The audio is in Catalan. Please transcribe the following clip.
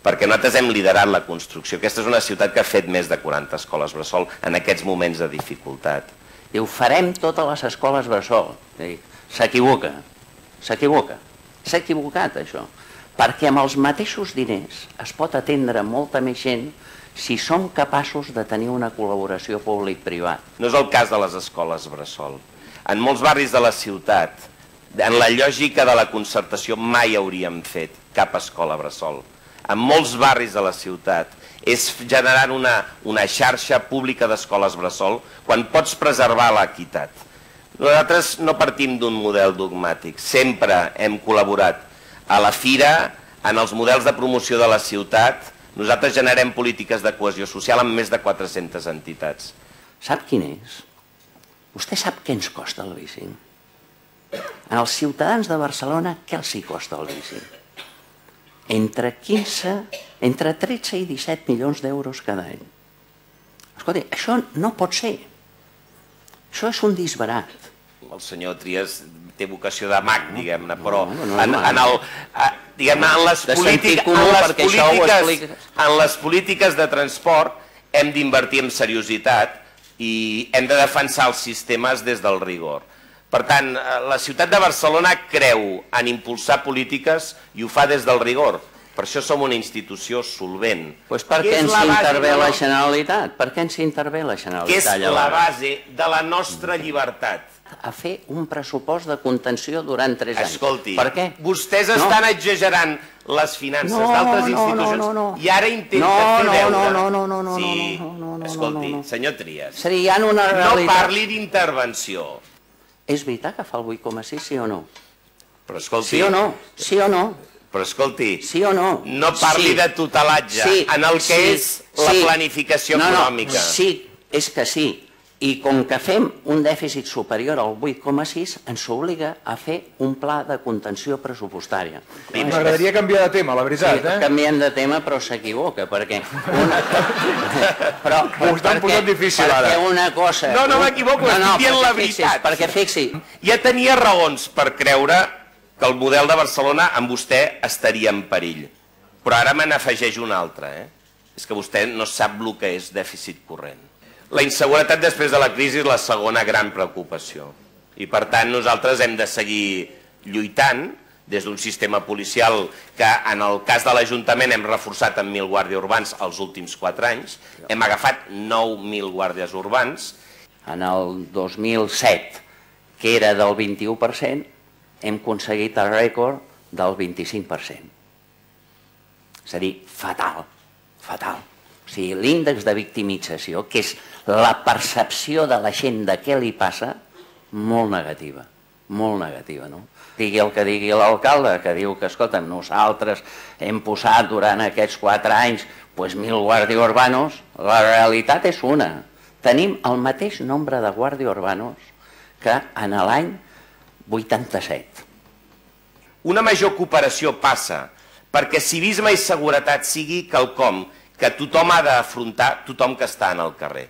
perquè nosaltres hem liderat la construcció. Aquesta és una ciutat que ha fet més de 40 escoles bressol en aquests moments de dificultat. Diu, farem totes les escoles bressol. S'equivoca, s'equivoca. S'ha equivocat, això. Perquè amb els mateixos diners es pot atendre molta més gent si som capaços de tenir una col·laboració públic-privat. No és el cas de les escoles bressol. En molts barris de la ciutat, en la lògica de la concertació, mai hauríem fet cap escola bressol. En molts barris de la ciutat és generant una xarxa pública d'escoles bressol quan pots preservar l'equitat. Nosaltres no partim d'un model dogmàtic, sempre hem col·laborat. A la fira, en els models de promoció de la ciutat, nosaltres generem polítiques de cohesió social amb més de 400 entitats. Sap quin és? Vostè sap què ens costa el leasing? Als ciutadans de Barcelona, què els hi costa el leasing? Entre 13 i 17 milions d'euros cada any. Escolti, això no pot ser. Això és un disbarat. El senyor Trias té vocació de mag, diguem-ne, però en les polítiques de transport hem d'invertir en seriositat i hem de defensar els sistemes des del rigor. Per tant, la ciutat de Barcelona creu en impulsar polítiques i ho fa des del rigor. Per això som una institució solvent. Doncs per què ens intervé la Generalitat? Per què ens intervé la Generalitat? Que és la base de la nostra llibertat. A fer un pressupost de contenció durant 3 anys. Escolti, per què? Vostès estan exagerant les finances d'altres institucions i ara intenta fer veure... Sí, escolti, senyor Trias, no parli d'intervenció. És veritat que fa el 8,6, sí o no? Però escolti... Sí o no? Sí o no? Però escolti, sí o no? No parli de tutelatge en el que és la planificació econòmica. Sí, és que sí. I com que fem un dèficit superior al 8,6, ens obliga a fer un pla de contenció pressupostària. M'agradaria canviar de tema, la veritat. Sí, canviem de tema, però s'equivoca, perquè... Ho estan posant difícil, ara. Perquè una cosa... No m'equivoco, estic dient la veritat. Perquè fixi... Ja tenia raons per creure que el model de Barcelona amb vostè estaria en perill. Però ara me n'afegeix un altre. És que vostè no sap el que és dèficit corrent. La inseguretat després de la crisi és la segona gran preocupació. I per tant nosaltres hem de seguir lluitant des d'un sistema policial que en el cas de l'Ajuntament hem reforçat amb 1.000 guàrdies urbans els últims 4 anys. Hem agafat 9.000 guàrdies urbans. En el 2007, que era del 21%, hem aconseguit el rècord del 25%. És a dir, fatal, fatal. O sigui, l'índex de victimització, que és la percepció de la gent de què li passa, molt negativa, no? Digui el que digui l'alcalde, que diu que, escolta'm, nosaltres hem posat durant aquests 4 anys 1.000 guàrdies urbanos, la realitat és una. Tenim el mateix nombre de guàrdies urbanos que en l'any 87. Una major cooperació passa perquè civisme i seguretat sigui quelcom que tothom ha d'afrontar, tothom que està en el carrer.